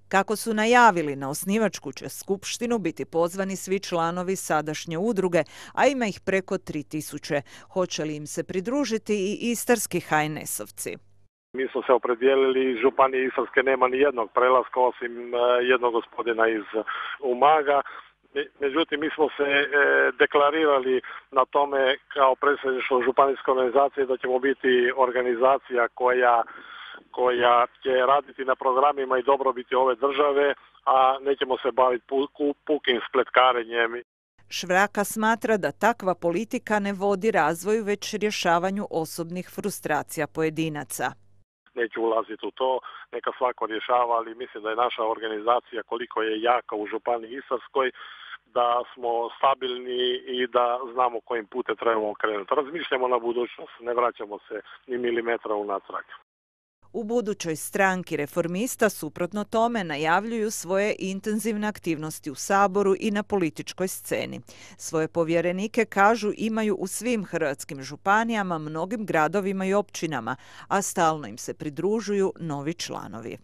Kako su najavili, na osnivačku će skupštinu biti pozvani svi članovi sadašnje udruge, a ima ih preko 3000. Hoće li im se pridružiti i istarski HNS-ovci? Mi smo se opredijelili, iz Županije Istarske nema ni jednog prelaska osim jednog gospodina iz Umaga. Međutim, mi smo se deklarirali na tome kao predsjedništvo županijske organizacije da ćemo biti organizacija koja će raditi na programima i dobrobiti ove države, a nećemo se baviti pukim spletkarenjem. Švraka smatra da takva politika ne vodi razvoju, već rješavanju osobnih frustracija pojedinaca. Neću ulaziti u to, neka svako rješava, ali mislim da je naša organizacija koliko je jaka u Županiji Istarskoj, da smo stabilni i da znamo kojim putem trebamo krenuti. Razmišljamo na budućnost, ne vraćamo se ni milimetra unatrag. U budućoj stranki Reformista, suprotno tome, najavljuju svoje intenzivne aktivnosti u Saboru i na političkoj sceni. Svoje povjerenike, kažu, imaju u svim hrvatskim županijama, mnogim gradovima i općinama, a stalno im se pridružuju novi članovi.